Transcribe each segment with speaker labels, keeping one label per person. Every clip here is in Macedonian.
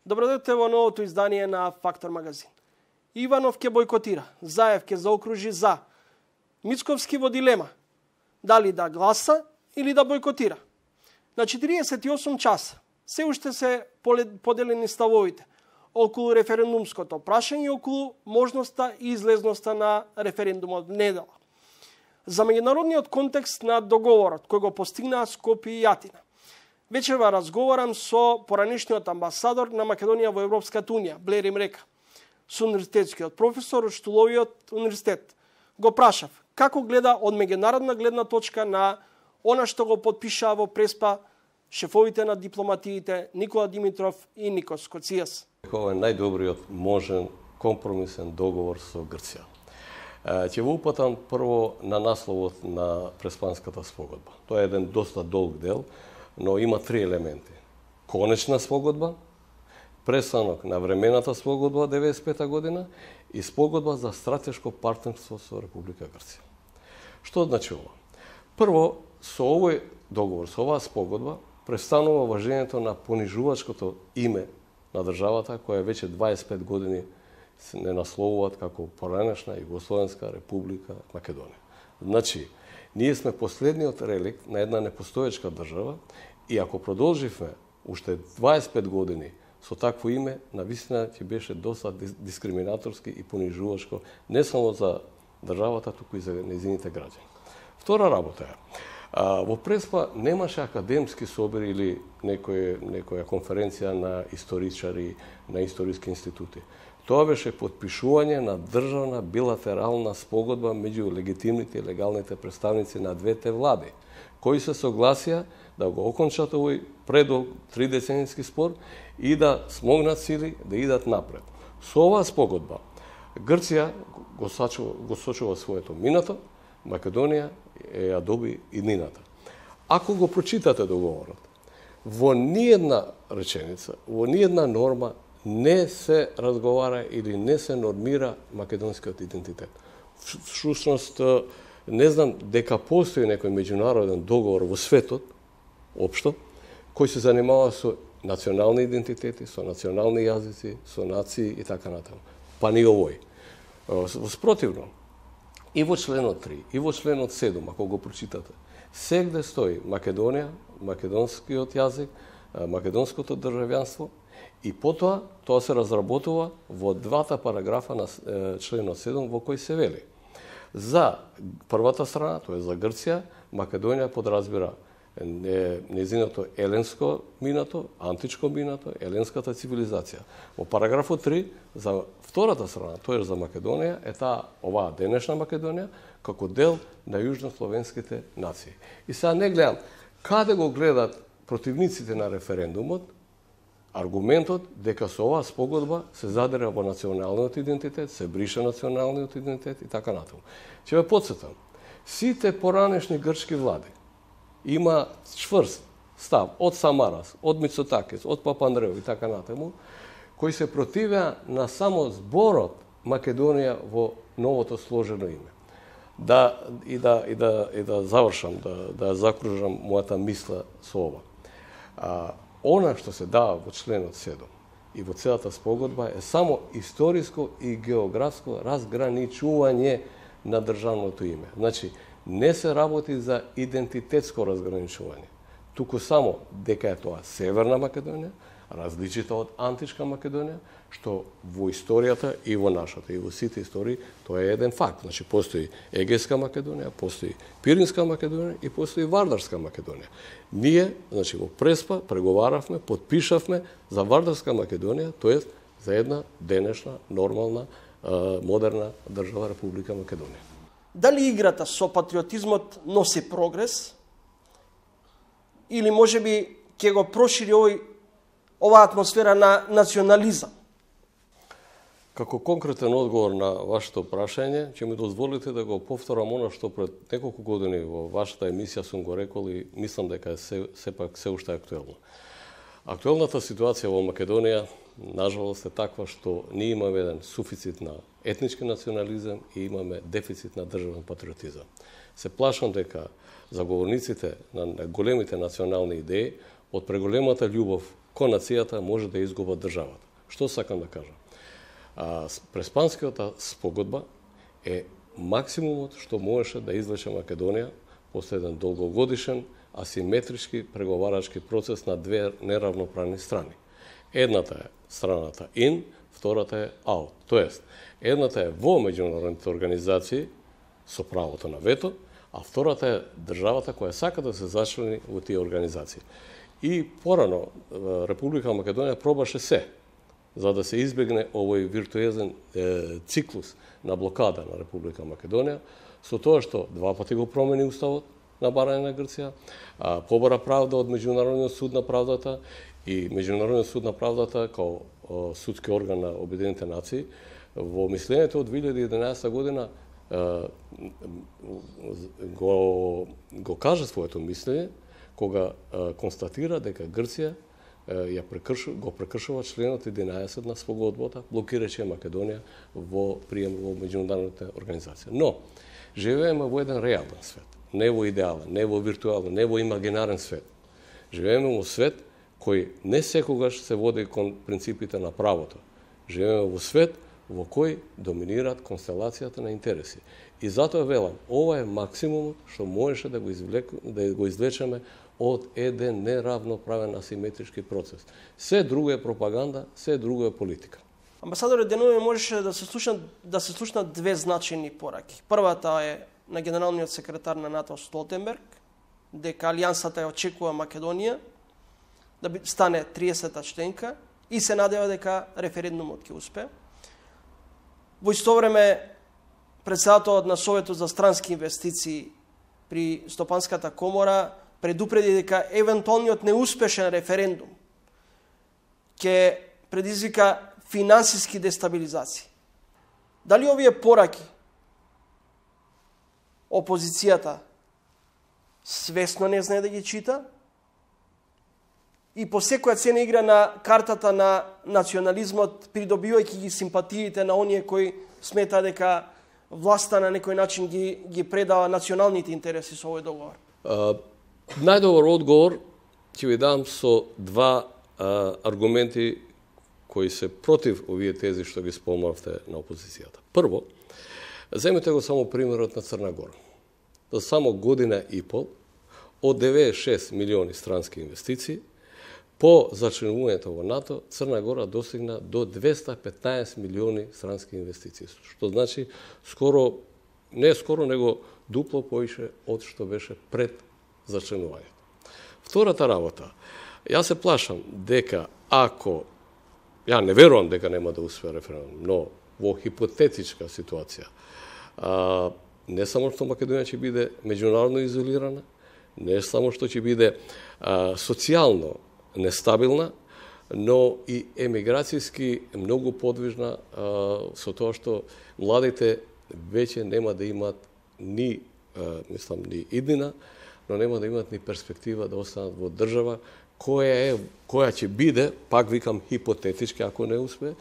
Speaker 1: Добродојдете во новото издание на Фактор магазин. Иванов ќе бойкотира, Заев ќе заокружи за. Мицковски во дилема, дали да гласа или да бойкотира. На 48 часа се уште се поделени ставовите околу референдумското прашање и околу можноста и излезноста на референдумот недела. За меѓународниот контекст на договорот кој го постигнаа Скопје и Атина. Вечерва разговарам со поранешниот амбасадор на Македонија во Европската унија, Блер им река, со универзитетскиот професор од Штуловиот универзитет. Го прашав како гледа од меѓународна гледна точка на она што го потпишаа во Преспа шефовите на дипломатиите Никола Димитров и Никос Коцијас.
Speaker 2: Ова е најдобриот можен компромисен договор со Грција. Ќе го упатам прво на насловот на Преспанската спогодба. Тоа е еден доста долг дел, но има три елементи. Конечна спогодба, престанок на времената спогодба 95 година и спогодба за стратешко партнерство со Република Грција. Што значи ова? Прво, со овој договор, со оваа спогодба, престанува важењето на понижувачкото име на државата, која веќе 25 години не насловуваат како поранешна Југословенска република Македонија. Значи, ние сме последниот реликт на една непостоечка држава и ако продолживме уште 25 години со такво име, навистина ќе беше доста дискриминаторски и понижувачко не само за државата, туку и за нејзините граѓани. Втора работа е, во Преспа немаше академски собори или некоја конференција на историчари, на историски институти. Тоа беше потпишување на државна билатерална спогодба меѓу легитимните и легалните представници на двете влади, кои се согласија да го окончат овој предолг 3-деценијски спор и да смогнат сили да идат напред. Со оваа спогодба Грција го сочува своето минато, Македонија ја доби иднината. Ако го прочитате договорот, во ниедна реченица, во ниедна норма не се разговара или не се нормира македонскиот идентитет. Всушност, не знам дека постои некој меѓународен договор во светот, општо, кој се занимава со национални идентитети, со национални јазици, со нации и така натаму. Па ни овој. Спротивно, и во членот 3, и во членот 7, ако го прочитате, сегде стои Македонија, македонскиот јазик, македонското државјанство, и потоа тоа се разработува во двата параграфа на членот 7 во кој се вели. За првата страна, тоа е за Грција, Македонија подразбира нејзиното еленско минато, античко минато, еленската цивилизација. Во параграфот 3, за втората страна, тоа е за Македонија, е оваа денешна Македонија, како дел на јужнословенските нации. И сега не гледам, каде го гледат противниците на референдумот, аргументот дека со оваа спогодба се задира во националниот идентитет, се брише националниот идентитет и така натаму. Ќе ве потсетам, сите поранешни грчки влади има чврст став од Самарас, од Мицотакис, од Папандреу и така натаму, кои се противеа на само зборот Македонија во новото сложено име. Да завршам, да закружам мојата мисла со ова. Она што се дава во членот 7 и во целата спогодба е само историско и географско разграничување на државното име. Значи, не се работи за идентитетско разграничување, туку само дека е тоа Северна Македонија, различита од античка Македонија, што во историјата и во нашата, и во сите истории, тоа е еден факт. Значи, постои Егејска Македонија, постои Пиринска Македонија и постои Вардарска Македонија. Ние, значи, во Преспа преговаравме, потпишавме за Вардарска Македонија, тоест за една денешна, нормална, модерна држава Република Македонија.
Speaker 1: Дали играта со патриотизмот носи прогрес или можеби ќе го прошири оваа атмосфера на национализам?
Speaker 2: Како конкретен одговор на вашето прашање, ќе ми дозволите да го повторам она што пред неколку години во вашата емисија сум го рекол и мислам дека е сепак се уште актуелно. Актуелната ситуација во Македонија, нажалост, е таква што ние имаме еден суфицит на етнички национализам и имаме дефицит на државен патриотизам. Се плашам дека заговорниците на големите национални идеи од преголемата љубов кон нацијата може да изгуба државата. Што сакам да кажам? Преспанската спогодба е максимумот што можеше да извлече Македонија после еден долгогодишен асиметрички преговарачки процес на две неравноправни страни. Едната е страната in, втората е out. Тоест, едната е во меѓународните организации со правото на вето, а втората е државата која сака да се зачлени во тие организации. И порано Република Македонија пробаше се за да се избегне овој виртуезен циклус на блокада на Република Македонија, со тоа што два пати го промени уставот на барање на Грција, побара правда од Меѓународниот суд на правдата и Меѓународниот суд на правдата као судски орган на Обединените нации во мислењето од 2011 година го кажа своето мислење кога констатира дека Грција го прекршува членот 11 на спогодбата, блокирајќи Македонија во прием во меѓународните организации. Но живееме во еден реален свет, не во идеален, не во виртуален, не во имагинарен свет. Живееме во свет кој не секогаш се води кон принципите на правото. Живееме во свет во кој доминираат констелацијата на интереси. И затоа велам, ова е максимумот што можеше да го извлечеме од еден неравноправен асиметрички процес. Се друго е пропаганда, се друго е политика.
Speaker 1: Амбасадоре, денови можеше да се слушнат две значајни пораки. Првата е на генералниот секретар на НАТО Столтенберг, дека алијансата ја очекува Македонија да стане 30-та членка и се надева дека референдумот ќе успее. Во исто време, председателот на Советот за странски инвестиции при Стопанската комора предупреди дека евентуалниот неуспешен референдум ќе предизвика финансиски дестабилизации. Дали овие пораки опозицијата свесно не знае да ги чита и по секоја цена игра на картата на национализмот, придобивајќи ги симпатиите на оние кои смета дека власта на некој начин ги предава националните интереси со овој договор?
Speaker 2: Најдобар одговор ќе ви дам со два аргументи кои се против овие тези што ги спомнавте на опозицијата. Прво, земете го само примерот на Црна Гора. За само година и пол, од 96 милиони странски инвестиции, по зачленувањето во НАТО, Црна Гора достигна до 215 милиони странски инвестиции, што значи него дупло поише од што беше пред зачленувањето. Втората работа, јас се плашам дека ја не верувам дека нема да успее референдум, но во хипотетичка ситуација, не само што Македонија ќе биде меѓународно изолирана, не само што ќе биде социјално нестабилна, но и емиграцијски многу подвижна со тоа што младите веќе нема да имат ни иднина, но нема да имат ни перспектива да останат во држава која ќе биде, пак викам хипотетички ако не успее,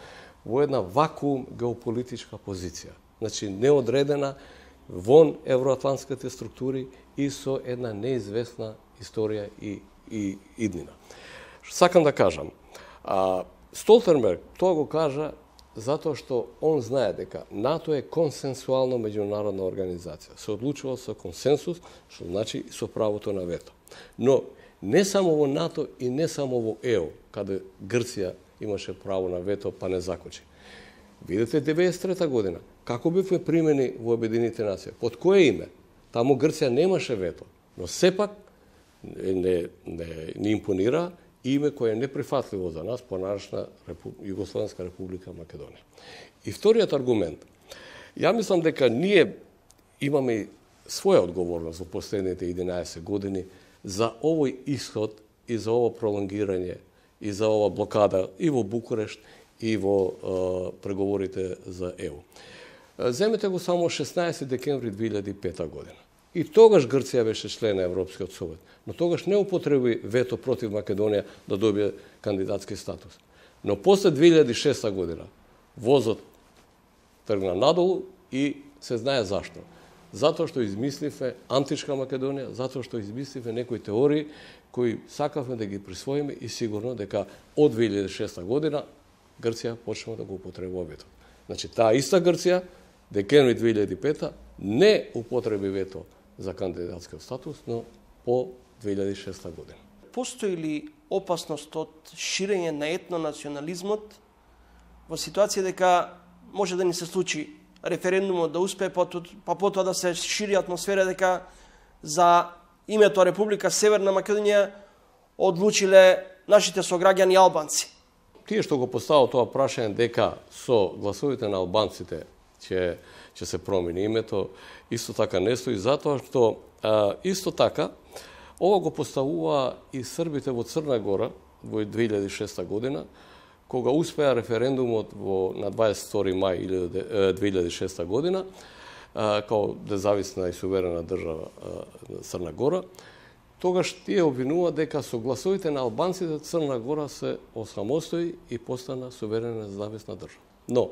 Speaker 2: во една вакуум геополитичка позиција. Значи неодредена вон евроатлантските структури и со една неизвестна историја и иднина. Сакам да кажам, Столтенберг тоа го кажа затоа што он знае дека НАТО е консенсуална меѓународна организација. Се одлучува со консенсус, што значи со правото на вето. Но не само во НАТО и не само во ЕУ, каде Грција имаше право на вето, па не закочи. Видете 1993 година, како бевме примени во Обединените нации, под кое име? Таму Грција немаше вето, но сепак не импонира име кое е неприфатливо за нас, понарашна Југословенска република Македонија. И вториот аргумент. Ја мислам дека ние имаме своја одговорност во последните 11 години за овој исход и за ово пролонгирање и за ова блокада и во Букурешт и во преговорите за ЕУ. Земете го само 16 декември 2005 година. И тогаш Грција беше член на Европскиот совет, но тогаш не употреби вето против Македонија да добие кандидатски статус. Но после 2006 година возот тргна надолу и се знае зашто. Затоа што измисливе античка Македонија, затоа што измисливе некои теории кои сакавме да ги присвоиме и сигурно дека од 2006 година Грција почнува да го употребува вето. Значи, таа иста Грција, декември 2005 не употреби вето за кандидатскиот статус, но по 2006 година.
Speaker 1: Постои ли опасност од ширење на етнонационализмот во ситуација дека може да ни се случи референдумот да успее, па потоа да се шири атмосфера дека за името Република Северна Македонија одлучиле нашите сограѓани албанци?
Speaker 2: Тие што го поставил тоа прашање дека со гласовите на албанците ќе се промени името, исто така не стои, затоа што исто така ова го поставува и србите во Црна Гора во 2006 година, кога успеа референдумот на 22 мај 2006 година, као независна и суверена држава Црна Гора, тогаш тие обвинуваат дека со гласовите на албанците Црна Гора се осамостои и постана суверена независна држава. Но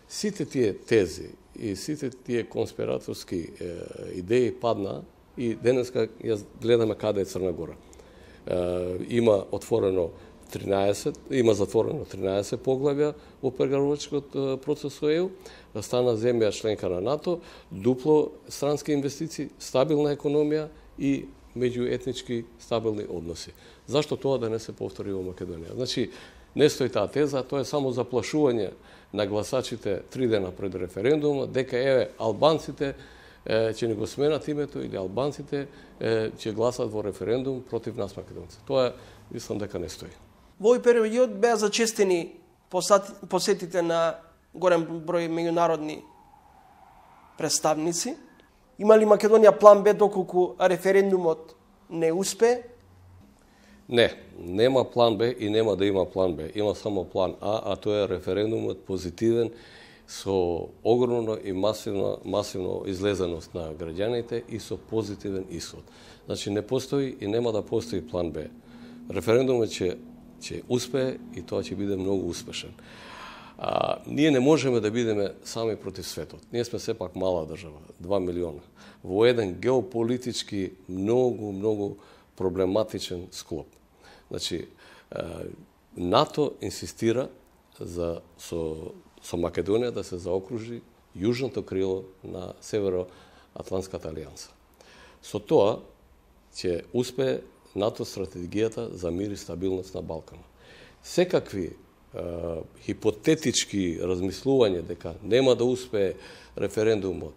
Speaker 2: сите тие тези и сите тие конспираторски идеи паднаа и денеска ја гледаме каде е Црна Гора. Има затворено 13 поглавја во преговарачкиот процес со ЕУ, стана земја членка на НАТО, дупло странски инвестиции, стабилна економија и меѓуетнички стабилни односи. Зашто тоа да не се повтори во Македонија? Значи, не стои таа теза, тоа е само заплашување на гласачите 3 дена пред референдумот, дека албанците ќе ни го сменат името или албанците ќе гласат во референдум против нас македонци. Тоа мислам дека не стои.
Speaker 1: Во овој период беа зачестени посетите на голем број меѓународни представници. Има ли Македонија план Б доколку референдумот не успее?
Speaker 2: Не, нема план Б и нема да има план Б. Има само план А тоа е референдумот позитивен со огромно и масивно излезеност на граѓаните и со позитивен исход. Значи не постои и нема да постои план Б. Референдумот ќе успее и тоа ќе биде многу успешен. Ние не можеме да бидеме сами против светот. Ние сме сепак мала држава, 2 милиона, во еден геополитички многу проблематичен склоп. Значи, НАТО инсистира со Македонија да се заокружи јужното крило на Североатлантската алијанса. Со тоа ќе успее НАТО стратегијата за мир и стабилност на Балканот. Секакви хипотетички размислување дека нема да успее референдумот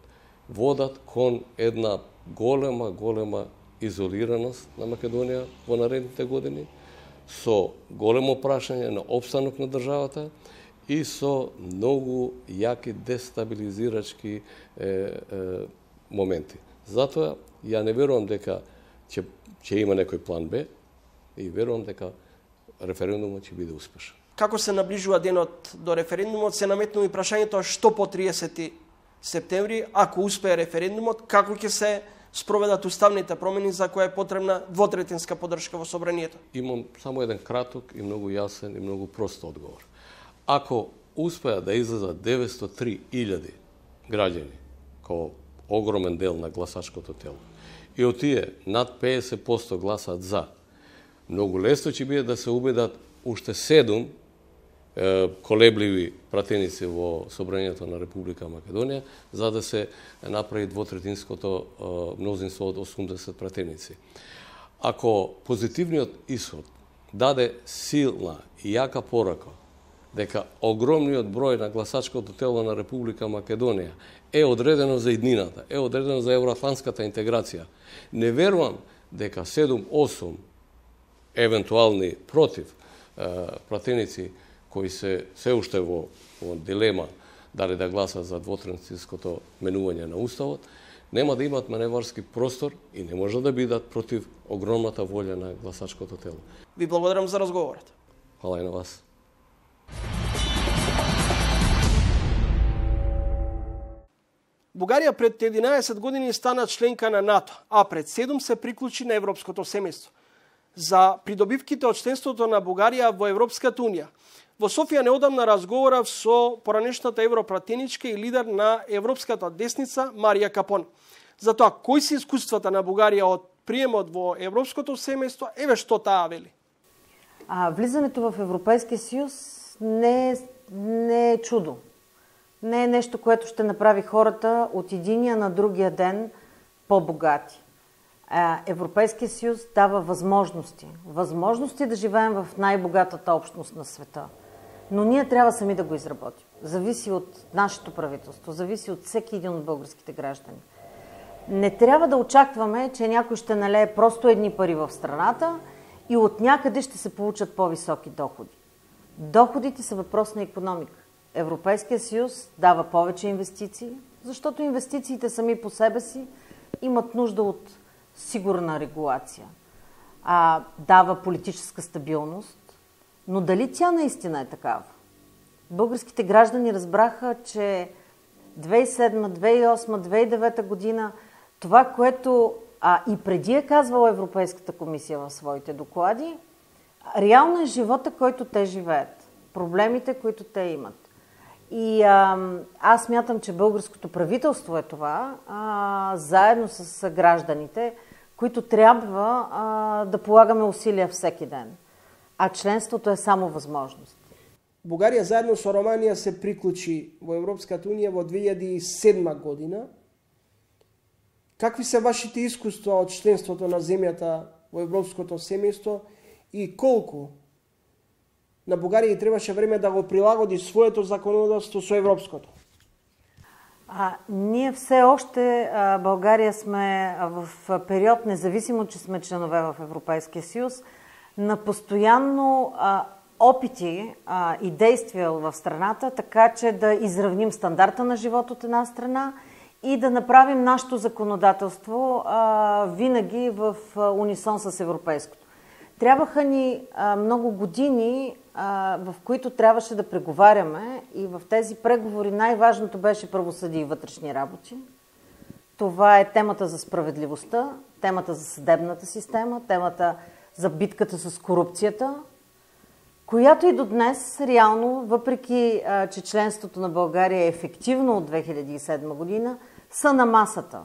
Speaker 2: водат кон една голема изолираност на Македонија во наредните години, со големо прашање на опстанок на државата и со многу јаки дестабилизирачки моменти. Затоа ја не верувам дека ќе има некој план Б и верувам дека референдумот ќе биде успешен.
Speaker 1: Како се наближува денот до референдумот, се наметнува и прашањето што по 30 септември, ако успее референдумот, како ќе се спроведат уставните промени за која е потребна двотретинска поддршка во собранието?
Speaker 2: Имам само еден краток и многу јасен и многу прост одговор. Ако успеа да излезат 903.000 граѓани, како огромен дел на гласачкото тело, и од тие над 50% гласат за, многу лесно ќе биде да се убедат уште 7 колебливи пратеници во собранието на Република Македонија, за да се направи двотретинското мнозинство од 80 пратеници. Ако позитивниот исход даде силна и јака порака дека огромниот број на гласачкото тело на Република Македонија е одредено за иднината, е одредено за евроатлантската интеграција, не верувам дека 7-8 евентуални против пратеници кои се уште во дилема дали да гласат за двотретинското менување на Уставот, нема да имат маневарски простор и не може да бидат против огромната волја на гласачкото тело.
Speaker 1: Ви благодарам за разговорот.
Speaker 2: Хвала и на вас.
Speaker 1: Бугарија пред 11 години стана членка на НАТО, а пред 7 се приклучи на европското семејство. За придобивките од членството на Бугарија во Европската унија, во Софија неодамна разговарав со поранешната европратеничка и лидер на европската десница Марија Капон. За тоа, кои се искуствата на Бугарија од приемот во европското семејство, еве што таа вели.
Speaker 3: Влизането в Европейския съюз не е чудо. Не е нещо, което ще направи хората от единия на другия ден по-богати. Европейския съюз дава възможности. Възможности да живеем в най-богатата общност на света. Но ние трябва сами да го изработим. Зависи от нашето правителство, зависи от всеки един от българските граждани. Не трябва да очакваме, че някой ще налее просто едни пари в страната и от някъде ще се получат по-високи доходи. Доходите са въпрос на икономика. Европейския съюз дава повече инвестиции, защото инвестициите сами по себе си имат нужда от сигурна регулация. Дава политическа стабилност, но дали тя наистина е такава? Българските граждани разбраха, че 2007, 2008, 2009 година това, което и преди е казвала Европейската комисия в своите доклади, реално е живота, който те живеят, проблемите, които те имат. И аз смятам, че българското правителство е това, заедно с гражданите, които трябва да полагаме усилия всеки ден. А членството е само възможност.
Speaker 1: Бугарија заедно со Романија се приклучи во Европската унија во 2007 година. Какви се вашите искуства од членството на земјата во европското семејство и колку на Бугарија требаше време да го прилагоди своето законодавство со европското?
Speaker 3: Ние все още, България, сме в период, независимо, че сме членове в Европейския съюз, на постоянно опити и действия в страната, така че да изравним стандарта на живот от една страна и да направим нашето законодателство винаги в унисон с европейското. Трябваха ни много години, в които трябваше да преговаряме, и в тези преговори най-важното беше правосъдие и вътрешни работи. Това е темата за справедливостта, темата за съдебната система, темата за битката с корупцията, която и до днес, реално, въпреки че членството на България е ефективно от 2007 година, са на масата.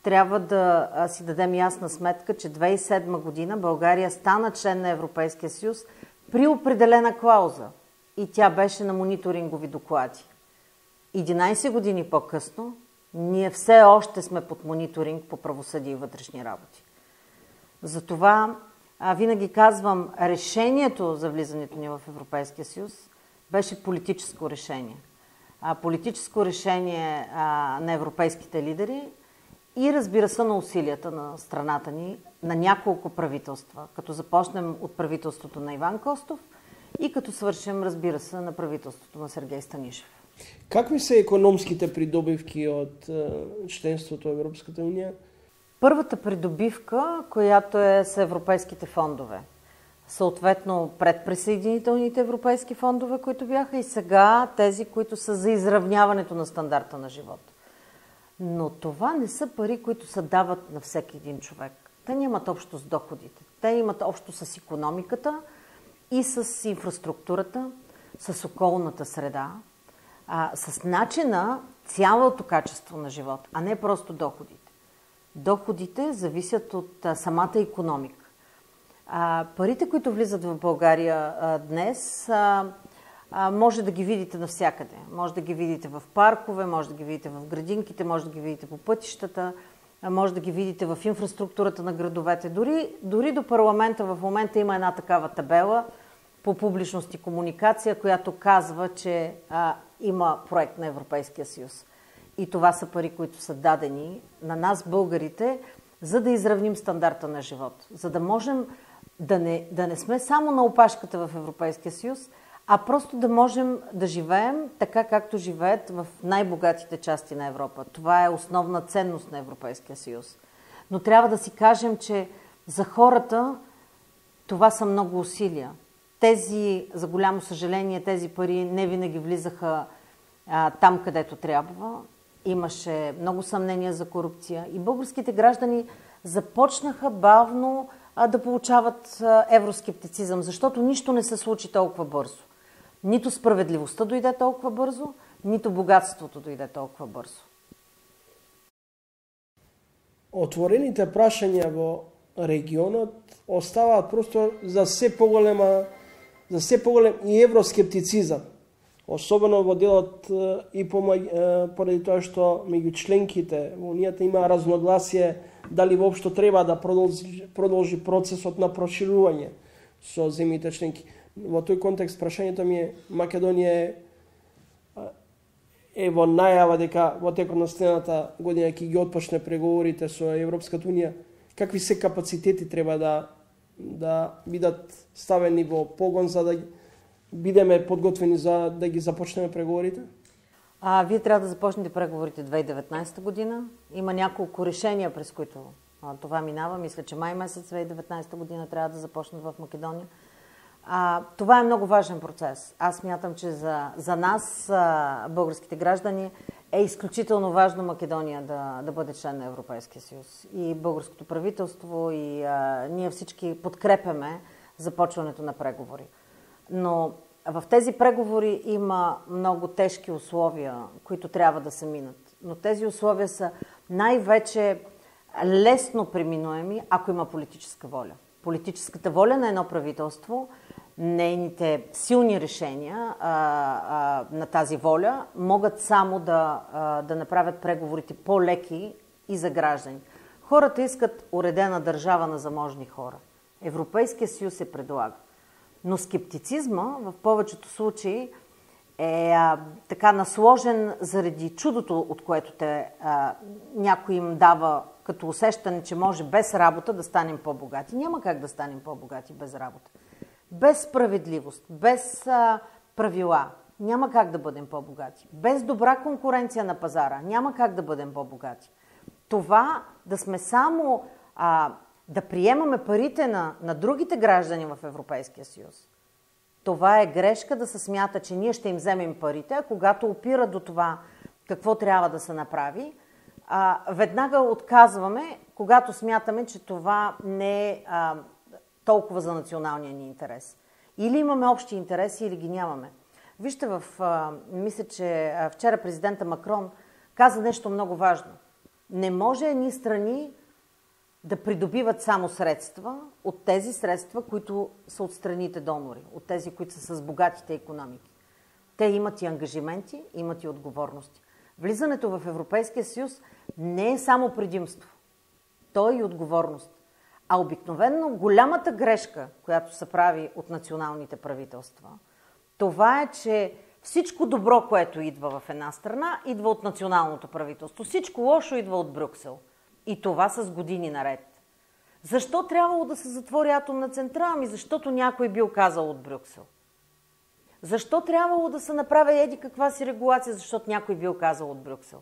Speaker 3: Трябва да си дадем ясна сметка, че 2007 година България стана член на Европейския съюз при определена клауза и тя беше на мониторингови доклади. 11 години по-късно ние все още сме под мониторинг по правосъдие и вътрешни работи. Затова винаги казвам, решението за влизането ни в Европейския съюз беше политическо решение. Политическо решение на европейските лидери и, разбира се, на усилията на страната ни, на няколко правителства, като започнем от правителството на Иван Костов и като свършим, разбира се, на правителството на Сергей Станишев.
Speaker 1: Какви са економските придобивки от членството в Европската уния?
Speaker 3: Първата придобивка, която е с европейските фондове. Съответно, предприсъединителните европейски фондове, които бяха, и сега тези, които са за изравняването на стандарта на живот. Но това не са пари, които се дават на всеки един човек. Те нямат общо с доходите. Те имат общо с икономиката и с инфраструктурата, с околната среда, с начина, цялото качество на живот, а не просто доходите. Доходите зависят от самата икономика. Парите, които влизат в България днес, може да ги видите навсякъде. Може да ги видите в паркове, може да ги видите в градинките, може да ги видите по пътищата, може да ги видите в инфраструктурата на градовете. Дори до парламента в момента има една такава табела по публичност и комуникация, която казва, че има проект на Европейския съюз. И това са пари, които са дадени на нас, българите, за да изравним стандарта на живот. За да можем да не сме само на опашката в Европейския съюз, а просто да можем да живеем така, както живеят в най-богатите части на Европа. Това е основна ценност на Европейския съюз. Но трябва да си кажем, че за хората това са много усилия. За голямо съжаление, тези пари не винаги влизаха там, където трябва. Имаше много съмнения за корупция и българските граждани започнаха бавно да получават евроскептицизъм, защото нищо не се случи толкова бързо. Нито справедливостта дойде толкова бързо, нито богатството дойде толкова бързо.
Speaker 1: Отворените прашања во регионот оставаат простор за се поголем и евроскептицизам. Особено во делот и поради тоа што меѓу членките во Унијата има разногласие дали воопшто треба да продолжи процесот на проширување со земјите членки. Во тој контекст прашањето ми е, Македонија е во најава дека во текот на следната година ќе ги отпочне преговорите со Европската Унија. Какви се капацитети треба да бидат ставени во погон за да бидеме подготвени за да ги започнеме преговорите?
Speaker 3: Вие трябва да започнете преговорите 2019 година. Има няколко решения, през които това минава. Мисля, че май месец 2019 година трябва да започнат в Македония. Това е много важен процес. Аз смятам, че за нас, българските граждани, е изключително важно Македония да бъде член на Европейския съюз. И българското правителство, и ние всички подкрепяме започването на преговори. Но в тези преговори има много тежки условия, които трябва да се минат. Но тези условия са най-вече лесно преминуеми, ако има политическа воля. Политическата воля на едно правителство, нейните силни решения на тази воля могат само да направят преговорите по-леки и за граждани. Хората искат уредена държава на заможни хора. Европейския съюз се предлага. Но скептицизма в повечето случаи е така насложен заради чудото, от което някой им дава като усещане, че може без работа да станем по-богати. Няма как да станем по-богати без работа. Без справедливост, без правила, няма как да бъдем по-богати. Без добра конкуренция на пазара, няма как да бъдем по-богати. Това да сме само да приемаме парите на другите граждани в Европейския съюз. Това е грешка да се смята, че ние ще им вземем парите, а когато опира до това какво трябва да се направи, веднага отказваме, когато смятаме, че това не е толкова за националния ни интерес. Или имаме общи интереси, или ги нямаме. Вижте, мисля, че вчера президента Макрон каза нещо много важно. Не може едни страни да придобиват само средства от тези средства, които са от страните донори, от тези, които са с богатите икономики. Те имат и ангажименти, имат и отговорности. Влизането в Европейския съюз не е само предимство. То е и отговорност. А обикновено голямата грешка, която се прави от националните правителства, това е, че всичко добро, което идва в една страна, идва от националното правителство. Всичко лошо идва от Брюксел. И това с години наред. Защо трябвало да се затвори атомна централа? Ами защото някой бил казал от Брюксел. Защо трябвало да се направи еди каква си регулация? Защото някой бил казал от Брюксел.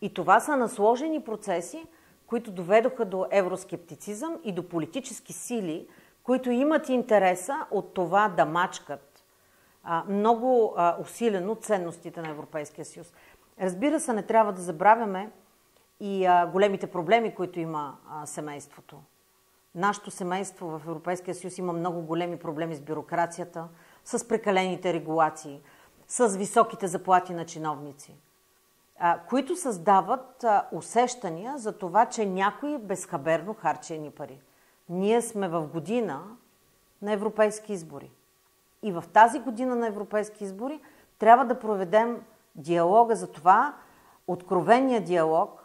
Speaker 3: И това са насложени процеси, които доведоха до евроскептицизъм и до политически сили, които имат интереса от това да мачкат много усилено ценностите на Европейския съюз. Разбира се, не трябва да забравяме и големите проблеми, които има семейството. Нашето семейство в Европейския съюз има много големи проблеми с бюрокрацията, с прекалените регулации, с високите заплати на чиновници, които създават усещания за това, че някой безхаберно харчи едни пари. Ние сме в година на европейски избори. И в тази година на европейски избори трябва да проведем диалога за това, откровения диалог,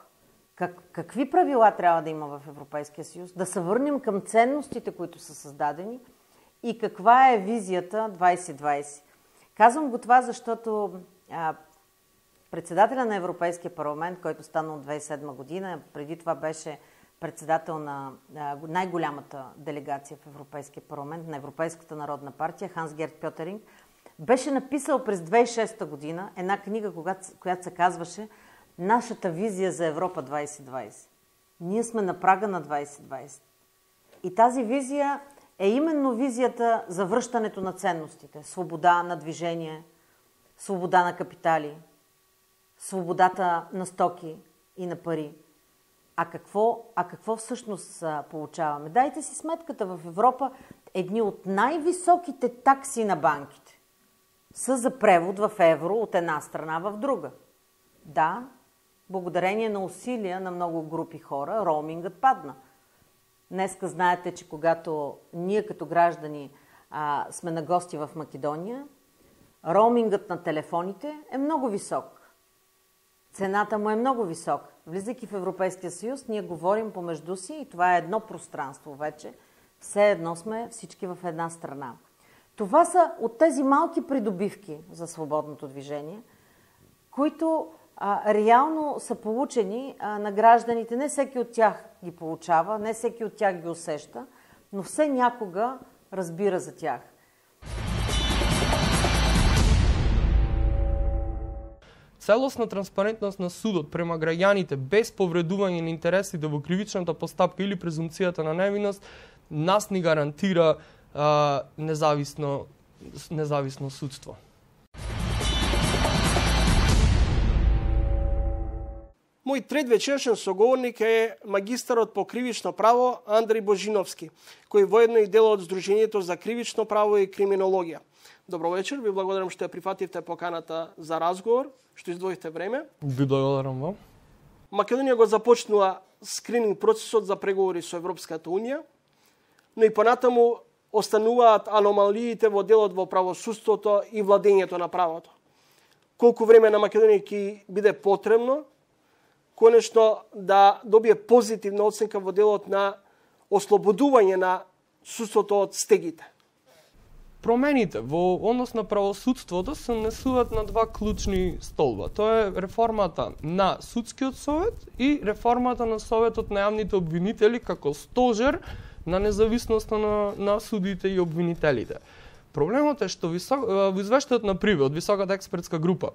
Speaker 3: какви правила трябва да има в Европейския съюз, да се върнем към ценностите, които са създадени и каква е визията 2020. Казвам го това, защото председателя на Европейския парламент, който стана от 2007 година, преди това беше председател на най-голямата делегация в Европейския парламент, на Европейската народна партия, Ханс Герт Пьотеринг, беше написал през 2006 година една книга, която се казваше "Нашата визия за Европа 2020". Ние сме на прага на 2020. И тази визия е именно визията за връщането на ценностите. Свобода на движение, свобода на капитали, свободата на стоки и на пари. А какво всъщност получаваме? Дайте си сметката, в Европа едни от най-високите такси на банките са за превод в евро от една страна в друга. Да, благодарение на усилия на много групи хора, роумингът падна. Днеска знаете, че когато ние като граждани сме на гости в Македония, роумингът на телефоните е много висок. Цената му е много висока. Влизайки в Европейския съюз, ние говорим помежду си и това е едно пространство вече. Все едно сме всички в една страна. Това са от тези малки придобивки за свободното движение, които реално са получени на гражданите. Не всеки от тях ги получава, не всеки от тях ги усеща, но все някога разбира за тях.
Speaker 4: Целосна транспарентност на судот према граѓаните без повредување на интересите во кривичната постапка или презумцијата на невиност нас ни гарантира независно судство.
Speaker 1: Мој трет вечершен соговорник е магистарот по кривично право Андреј Божиновски, кој воедно и дел од Сдруженијето за кривично право и криминологија. Добро вечер, ви благодарам што ја прифативте поканата за разговор, што издвоите време.
Speaker 4: Ви благодарам вам.
Speaker 1: Македонија го започнува скрининг процесот за преговори со Европската Унија, но и понатаму остануваат аномалиите во делот во правосудството и владењето на правото. Колку време на Македонија ќе биде потребно конечно да добие позитивна оценка во делот на ослободување на судството од стегите?
Speaker 4: Промените во однос на правосудството се несуваат на два клучни столба. Тоа е реформата на судскиот совет и реформата на советот на јавните обвинители како стожер на независноста на судите и обвинителите. Проблемот е што во извештајот на Приве од високата експертска група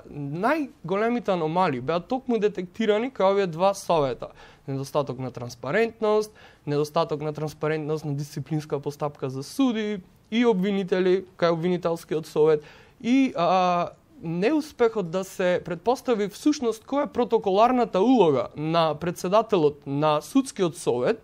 Speaker 4: најголемите аномалии беа токму детектирани кај овие два совета. Недостаток на транспарентност, недостаток на транспарентност на дисциплинска постапка за суди и обвинители кај обвинителскиот совет и неуспехот да се предпостави всушност која е протоколарната улога на председателот на судскиот совет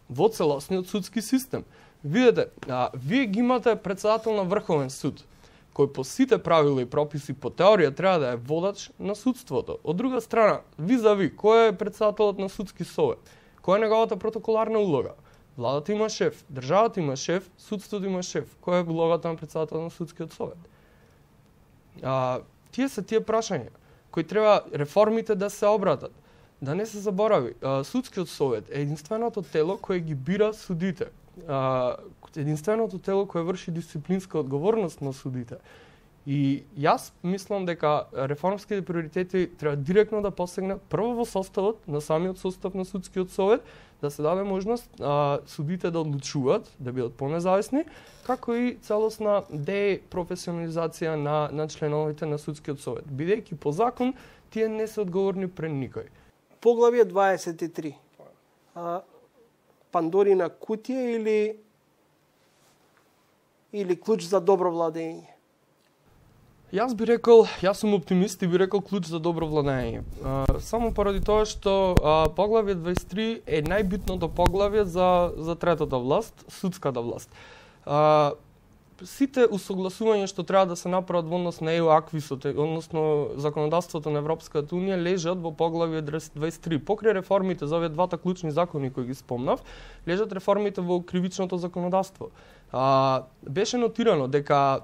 Speaker 4: во целосниот судски систем. Видете, вие ги имате председател на Врховен суд, кој по сите правила и прописи по теорија треба да е водач на судството. Од друга страна, визави, кој е председателот на судски совет? Која е неговата протоколарна улога? Владата има шеф, државата има шеф, судството има шеф. Која е улогата на председател на судскиот совет? Тие се тие прашања кои треба реформите да се обратат. Да не се заборави, судскиот совет е единственото тело кое ги бира судите. Единственото тело кое врши дисциплинска одговорност на судите. И јас мислам дека реформските приоритети треба директно да посегнат прво во составот на самиот состав на судскиот совет, да се даде можност судите да одлучуваат, да бидат понезависни, како и целосна депрофесионализација на членовите на судскиот совет. Бидејќи по закон тие не се одговорни пред никој.
Speaker 1: Поглавје 23. Пандорина кутија или клуч за добро владење?
Speaker 4: Јас би рекол, јас сум оптимист и би рекол клуч за добро владење. Само поради тоа што поглавје 23 е најбитното поглавје за третата власт, судската власт. Сите усогласувања што треба да се направат во однос на ЕУ-аквисот, односно законодавството на Европската Унија, лежат во поглавје 23. Покрај реформите за овие двата клучни закони кои ги спомнав, лежат реформите во кривичното законодавство. Беше нотирано дека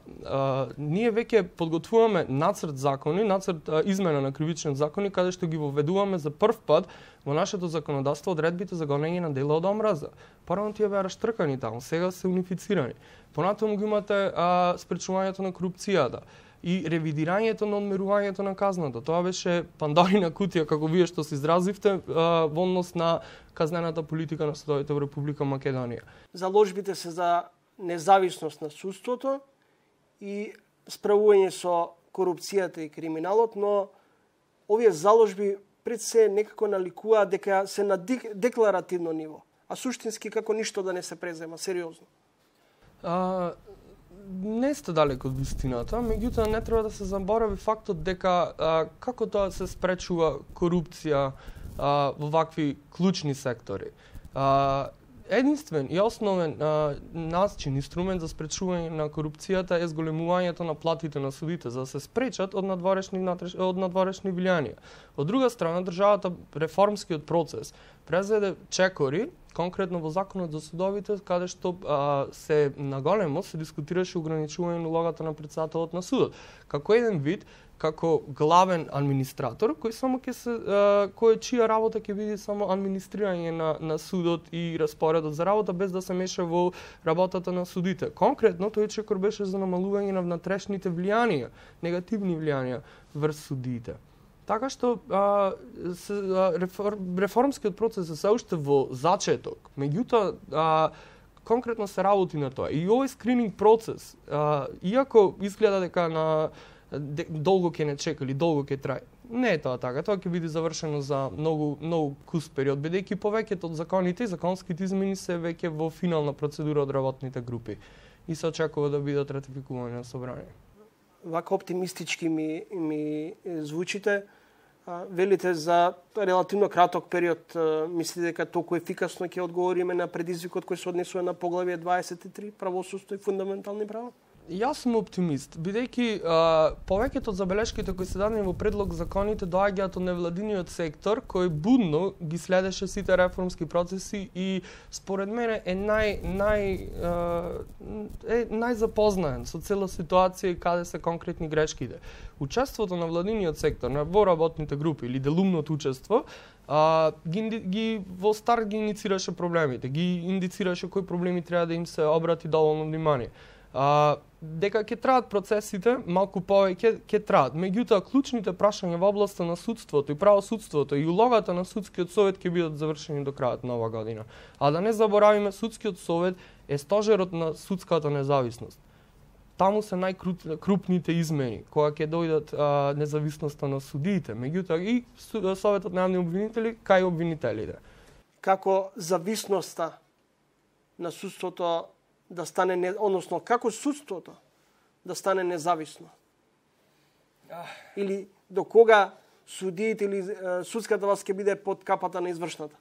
Speaker 4: ние веќе подготвуваме нацрт закони, нацрт измена на кривични закони, каде што ги воведуваме за прв пат во нашето законодавство одредбите за гонење на дела од омраза. Порано тие беа раштркани таму, сега се унифицирани. Понатаму ги имате спречувањето на корупцијата и ревидирањето на одмерувањето на казната. Тоа беше пандорина кутија, како вие што се изразивте, во однос на казнената политика на судовите во Република Македонија.
Speaker 1: Заложбите се за независност на судството и справување со корупцијата и криминалот, но овие заложби пред се некако наликуваат дека се на декларативно ниво, а суштински како ништо да не се презема сериозно.
Speaker 4: Не сте далеко од вистината, меѓутоа не треба да се заборави фактот дека како тоа се спречува корупција во вакви клучни сектори. Единствен и основен начин, инструмент за спречување на корупцијата е зголемувањето на платите на судите, за да се спречат од надворешни влијанија. Од друга страна, државата реформскиот процес произведе чекори конкретно во законот за судовите, каде што се наголемо се дискутираше ограничување на улогата на претседателот на судот. Како еден вид, како главен администратор, кој само ќе се чија работа ќе биде само администрирање на судот и распоредот за работа без да се меша во работата на судите. Конкретно тој чекор беше за намалување на внатрешните влијанија, негативни влијанија врз судиите. Така што реформскиот процес е се уште во зачеток. Меѓутоа конкретно се работи на тоа. И овој скрининг процес, иако изгледа дека долго ќе не чека или долго ќе трае. Не е тоа така. Тоа ќе биде завршено за многу кус период, бидејќи повеќето од законите и законските измени се веќе во финална процедура од работните групи и се очекува да бидат ратификувани на собрание.
Speaker 1: Вака оптимистички ми звучите. Велите за релативно краток период, мислите дека толку ефикасно ќе одговориме на предизвикот кој се однесува на поглавје 23, правосудство и фундаментални права?
Speaker 4: Јас сум оптимист, бидејќи повеќето од забелешките кои се дадени во предлог законите доаѓаат од невладиниот сектор, кој будно ги следеше сите реформски процеси и според мене е најзапознаен со цела ситуација и каде се конкретни грешките. Учеството на владиниот сектор во работните групи или делумното учество во старт ги иницираше проблемите, ги индицираше кои проблеми треба да им се обрати доволно внимание. Дека ќе траат процесите, малку повеќе ќе траат. Меѓутоа, клучните прашања во областа на судството и правосудството и улогата на судскиот совет ќе бидат завршени до крајот на оваа година. А да не заборавиме, судскиот совет е стожерот на судската независност. Таму се најкрупните измени, кога ќе дојдат независноста на судиите, меѓутоа и советот на јавни обвинители кај обвинителите.
Speaker 1: Како зависноста на судството да стане, односно како судството да стане независно? Или до кога судиите или судската власт ќе биде под капата на извршната?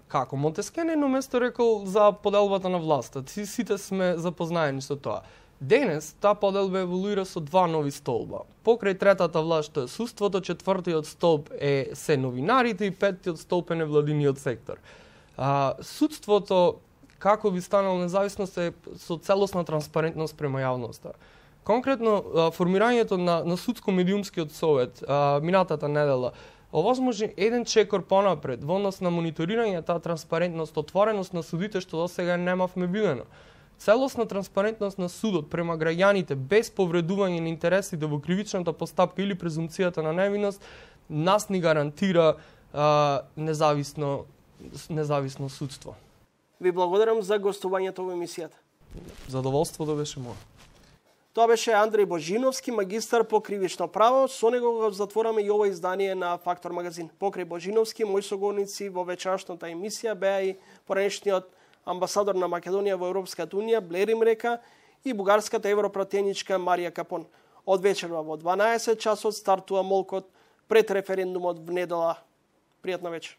Speaker 4: Како? Монтескје на едно место рекол за поделбата на власта. Сите сме запознаени со тоа. Денес таа поделба еволуира со два нови столба. Покрај третата власт што е судството, четвртиот столб се новинарите и петтиот столб е невладиниот сектор. Судството како би станало независност е со целосна транспарентност према јавноста. Конкретно, формирањето на судско-медиумскиот совет минатата недела овозможи еден чекор понапред во однос на мониторирање таа транспарентност, отвореност на судите што досега немавме видено. Целосна транспарентност на судот према граѓаните без повредување на интересите во кривичната постапка или презумцијата на невиност нас ни гарантира независно судство.
Speaker 1: Ви благодарам за гостувањето во емисијата.
Speaker 4: Задоволството беше мое.
Speaker 1: Тоа беше Андреј Божиновски, магистар по кривично право. Со него го затвораме и ова издание на Фактор магазин. Покрај Божиновски, мои соговорници во вечерашната емисија беа и поранешниот амбасадор на Македонија во Европската унија Блери Мрека и бугарската европратеничка Марија Капон. Од вечерва во 12 часот стартува молкот пред референдумот в недела. Пријатна вечер.